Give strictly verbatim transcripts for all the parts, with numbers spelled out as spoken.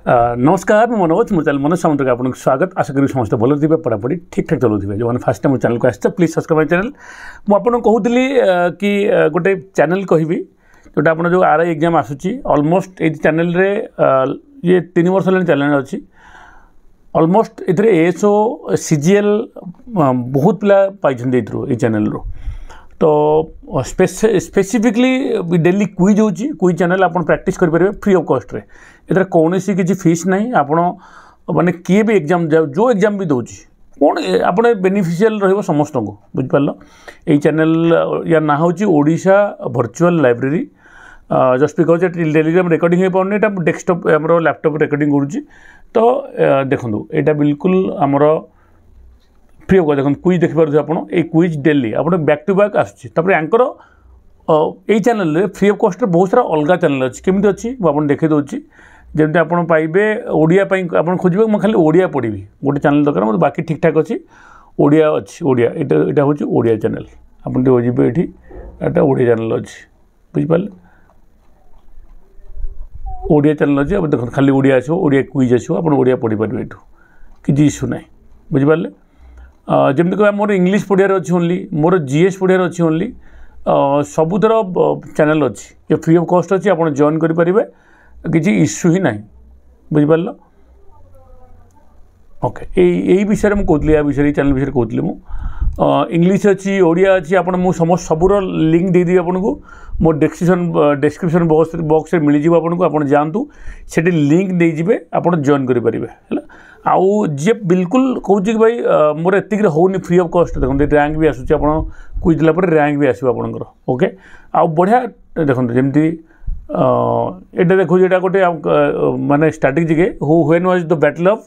ନମସ୍କାର ମୁଁ ମନୋଜ ମୋ ଚ୍ୟାନେଲ୍ ମନୋଜ ସାମନ୍ତକୁ ଆପଣଙ୍କୁ ସ୍ୱାଗତ ଆଶା କରିବି ସମସ୍ତେ ଭଲରେ ଥିବେ ପଢ଼ାପଢ଼ି ଠିକ୍ଠାକ୍ ଚଲାଉଥିବେ ଯେଉଁମାନେ ଫାର୍ଷ୍ଟ ଟାଇମ୍ ମୋ ଚ୍ୟାନେଲ୍କୁ ଆସିଛ ପ୍ଲିଜ୍ ସବସ୍କ୍ରାଇବ୍ my channel ମୁଁ ଆପଣଙ୍କୁ କହୁଥିଲି କି ଗୋଟେ ଚ୍ୟାନେଲ୍ କହିବି ଯେଉଁଟା ଆପଣ ଯେଉଁ ଆର୍ I exam ଆସୁଛି ଅଲମୋଷ୍ଟ ଏଇ ଚ୍ୟାନେଲ୍ରେ ଇଏ ତିନି ବର୍ଷ ହେଲାଣି ଚ୍ୟାନେଲ୍ ଅଛି ଅଲମୋଷ୍ଟ ଏଥିରେ ଏଏସ୍ଓ ସି ଜି ଏଲ୍ ବହୁତ ପିଲା ପାଇଛନ୍ତି ଏଇଥିରୁ ଏଇ ଚ୍ୟାନେଲ୍ରୁ ତ ସ୍ପେସିଫିକଲି ଡେଲି କୁଇଜ୍ ହେଉଛି କୁଇଜ୍ ଚ୍ୟାନେଲ୍ ଆପଣ ପ୍ରାକ୍ଟିସ୍ କରିପାରିବେ ଫ୍ରି ଅଫ୍ କଷ୍ଟରେ ଏଥିରେ କୌଣସି କିଛି ଫିସ୍ ନାହିଁ ଆପଣ ମାନେ କିଏ ବି ଏକ୍ଜାମ୍ ଯେଉଁ ଏକ୍ଜାମ୍ ବି ଦେଉଛି କ'ଣ ଆପଣ ବେନିଫିସିଆଲ୍ ରହିବ ସମସ୍ତଙ୍କୁ ବୁଝିପାରିଲ ଏଇ ଚ୍ୟାନେଲ୍ ୟା ନାଁ ହେଉଛି Odisha virtual library just because Telegram recording ହେଇପାରୁନି ଏଇଟା ଡେସ୍କଟପ୍ ଆମର ଲ୍ୟାପଟପ୍ ରେକର୍ଡ଼ିଂ କରୁଛି ତ ଦେଖନ୍ତୁ ଏଇଟା ବିଲକୁଲ ଆମର ଫ୍ରି ଅଫ୍ ଦେଖନ୍ତୁ କୁଇଜ୍ ଦେଖିପାରୁଥିବେ ଆପଣ ଏଇ କୁଇଜ୍ ଡେଲି ଆପଣ ବ୍ୟାକ୍ ଟୁ ବ୍ୟାକ୍ ଆସୁଛି ତାପରେ ୟାଙ୍କର ଏଇ ଚ୍ୟାନେଲ୍ରେ ଫ୍ରି ଅଫ୍ କଷ୍ଟରେ ବହୁତ ସାରା ଅଲଗା ଚ୍ୟାନେଲ୍ ଅଛି କେମିତି ଅଛି ମୁଁ ଆପଣଙ୍କୁ ଦେଖାଇ ଦେଉଛି ଯେମିତି ଆପଣ ପାଇବେ ଓଡ଼ିଆ ପାଇଁ ଆପଣ ଖୋଜିବେ ମୁଁ ଖାଲି ଓଡ଼ିଆ ପଢ଼ିବି ଗୋଟେ ଚ୍ୟାନେଲ୍ ଦରକାର ମୋତେ ବାକି ଠିକ୍ଠାକ୍ ଅଛି ଓଡ଼ିଆ ଅଛି ଓଡ଼ିଆ ଏଇଟା ଏଇଟା ହେଉଛି ଓଡ଼ିଆ ଚ୍ୟାନେଲ୍ ଆପଣ ଟିକେ ଯିବେ ଏଇଠି ଏଇଟା ଓଡ଼ିଆ ଚ୍ୟାନେଲ୍ ଅଛି ବୁଝିପାରିଲେ ଓଡ଼ିଆ ଚ୍ୟାନେଲ୍ ଅଛି ଆପଣ ଦେଖନ୍ତୁ ଖାଲି ଓଡ଼ିଆ ଆସିବ ଓଡ଼ିଆ କୁଇଜ୍ ଆସିବ ଆପଣ ଓଡ଼ିଆ ପଢ଼ିପାରିବେ ଏଇଠୁ କିଛି ଇସ୍ୟୁ ନାହିଁ ବୁଝିପାରିଲେ ଯେମିତି କହିବା ମୋର ଇଂଲିଶ ପଢ଼ିବାର ଅଛି ଓନ୍ଲି ମୋର ଜି ଏସ୍ ପଢ଼ିବାର ଅଛି ଓନ୍ଲି ସବୁଥର ଚ୍ୟାନେଲ୍ ଅଛି ଯେ ଫ୍ରି ଅଫ୍ କଷ୍ଟ ଅଛି ଆପଣ ଜଏନ୍ କରିପାରିବେ କିଛି ଇସ୍ୟୁ ହିଁ ନାହିଁ ବୁଝିପାରିଲ ଓକେ ଏଇ ଏଇ ବିଷୟରେ ମୁଁ କହୁଥିଲି ୟା ବିଷୟରେ ଏଇ ଚ୍ୟାନେଲ୍ ବିଷୟରେ କହୁଥିଲି ମୁଁ ଇଂଲିଶ ଅଛି ଓଡ଼ିଆ ଅଛି ଆପଣ ମୁଁ ସମସ୍ତ ସବୁର ଲିଙ୍କ୍ ଦେଇଦେବି ଆପଣଙ୍କୁ ମୋ ଡେସ୍କ୍ରିପସନ୍ ଡେସ୍କ୍ରିପସନ୍ ବକ୍ସ ବକ୍ସରେ ମିଳିଯିବ ଆପଣଙ୍କୁ ଆପଣ ଯାଆନ୍ତୁ ସେଠି ଲିଙ୍କ୍ ଦେଇଯିବେ ଆପଣ ଜଏନ୍ କରିପାରିବେ ହେଲା ଆଉ ଯିଏ ବିଲକୁଲ କହୁଛି କି ଭାଇ ମୋର ଏତିକିରେ ହେଉନି ଫ୍ରି ଅଫ୍ କଷ୍ଟ ଦେଖନ୍ତୁ ର୍ୟାଙ୍କ ବି ଆସୁଛି ଆପଣ କୁଇଜ୍ ଦେଲା ପରେ ର୍ୟାଙ୍କ ବି ଆସିବ ଆପଣଙ୍କର ଓକେ ଆଉ ବଢ଼ିଆ ଦେଖନ୍ତୁ ଯେମିତି ଏଇଟା ଦେଖୁଛି ଏଇଟା ଗୋଟେ ମାନେ strategic who when was the battle of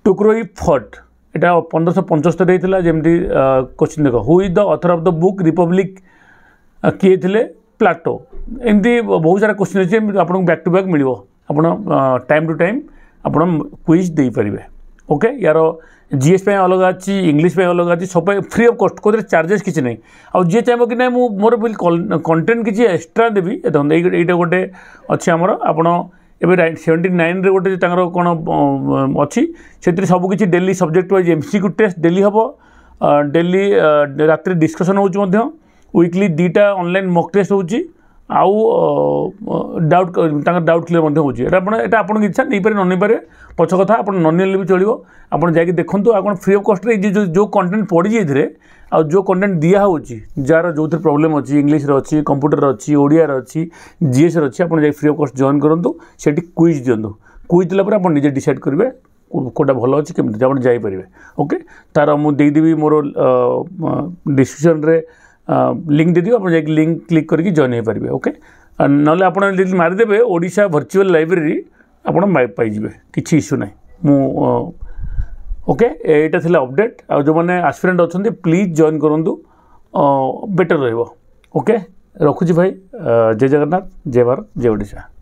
Tukroi fought ଏଇଟା ପନ୍ଦରଶହ ପଞ୍ଚସ୍ତରୀ ହେଇଥିଲା ଯେମିତି କୋଶ୍ଚିନ୍ ଦେଖ who is the author of the book Republic କିଏ ଥିଲେ ପ୍ଲାଟୋ ଏମିତି ବହୁତ ସାରା କୋଶ୍ଚିନ୍ ଅଛି ଆପଣଙ୍କୁ ବ୍ୟାକ୍ ଟୁ ବ୍ୟାକ୍ ମିଳିବ ଆପଣ ଟାଇମ୍ ଟୁ ଟାଇମ୍ ଆପଣ କୁଇଜ୍ ଦେଇପାରିବେ ଓକେ ୟାର ଜିଏସ୍ ପାଇଁ ଅଲଗା ଅଛି ଇଂଲିଶ ପାଇଁ ଅଲଗା ଅଛି ସବୁ ପାଇଁ ଫ୍ରି ଅଫ୍ କଷ୍ଟ କେଉଁଥିରେ ଚାର୍ଜେସ୍ କିଛି ନାହିଁ ଆଉ ଯିଏ ଚାହିଁବ କି ନାହିଁ ମୁଁ ମୋର ବି କଣ୍ଟେଣ୍ଟ କିଛି ଏକ୍ସଟ୍ରା ଦେବି ଦେଖନ୍ତୁ ଏଇ ଏଇଟା ଗୋଟେ ଅଛି ଆମର ଆପଣ ଏବେ ସେଭେଣ୍ଟି ନାଇନ୍ରେ ଗୋଟେ ତାଙ୍କର କ'ଣ ଅଛି ସେଥିରେ ସବୁକିଛି daily subject wise M C Q test daily ହେବ ଡେଲି ରାତିରେ ଡିସ୍କସନ୍ ହେଉଛି ମଧ୍ୟ ୱିକଲି ଦୁଇଟା ଅନଲାଇନ୍ ମକ୍ ଟେଷ୍ଟ ହେଉଛି ଆଉ ଡାଉଟ୍ ତାଙ୍କର ଡାଉଟ୍ କ୍ଲିୟର୍ ମଧ୍ୟ ହେଉଛି ଏଇଟା ଆପଣ ଏଇଟା ଆପଣଙ୍କ ଇଚ୍ଛା ନେଇପାରିବେ ନ ନେଇପାରିବେ ପଛ କଥା ଆପଣ ନ ନେଲେ ବି ଚଳିବ ଆପଣ ଯାଇକି ଦେଖନ୍ତୁ ଆଉ କ'ଣ ଫ୍ରି ଅଫ୍ କଷ୍ଟରେ ଏଇ ଯେଉଁ ଯେଉଁ କଣ୍ଟେଣ୍ଟ ପଡ଼ିଛି ଏଥିରେ ଆଉ ଯେଉଁ କଣ୍ଟେଣ୍ଟ ଦିଆହେଉଛି ଯାହାର ଯେଉଁଥିରେ ପ୍ରୋବ୍ଲେମ୍ ଅଛି ଇଂଲିଶରେ ଅଛି କମ୍ପ୍ୟୁଟର ଅଛି ଓଡ଼ିଆରେ ଅଛି ଜିଏସ୍ରେ ଅଛି ଆପଣ ଯାଇ ଫ୍ରି ଅଫ୍ କଷ୍ଟ ଜଏନ୍ କରନ୍ତୁ ସେଠି କୁଇଜ୍ ଦିଅନ୍ତୁ କୁଇଜ୍ ଦେଲା ପରେ ଆପଣ ନିଜେ ଡିସାଇଡ଼୍ କରିବେ କେଉଁଟା ଭଲ ଅଛି କେମିତି ଆପଣ ଯାଇପାରିବେ ଓକେ ତାର ମୁଁ ଦେଇଦେବି ମୋର ଡିସ୍କ୍ରିପସନ୍ରେ ଲିଙ୍କ୍ ଦେଇଦେବି ଆପଣ ଯାଇକି ଲିଙ୍କ୍ କ୍ଲିକ୍ କରିକି ଜଏନ୍ ହେଇପାରିବେ ଓକେ ନହେଲେ ଆପଣ ଯଦି ମାରିଦେବେ ଓଡ଼ିଶା ଭର୍ଚୁଆଲ୍ ଲାଇବ୍ରେରୀ ଆପଣ ପାଇଯିବେ କିଛି ଇସ୍ୟୁ ନାହିଁ ମୁଁ ଓକେ ଏଇଟା ଥିଲା ଅପଡ଼େଟ୍ ଆଉ ଯେଉଁମାନେ ଆସ୍ପିରାଣ୍ଟ ଅଛନ୍ତି ପ୍ଲିଜ୍ ଜଏନ୍ କରନ୍ତୁ ବେଟର୍ ରହିବ ଓକେ ରଖୁଛି ଭାଇ ଜୟ ଜଗନ୍ନାଥ ଜୟ ଭାରତ ଜୟ ଓଡ଼ିଶା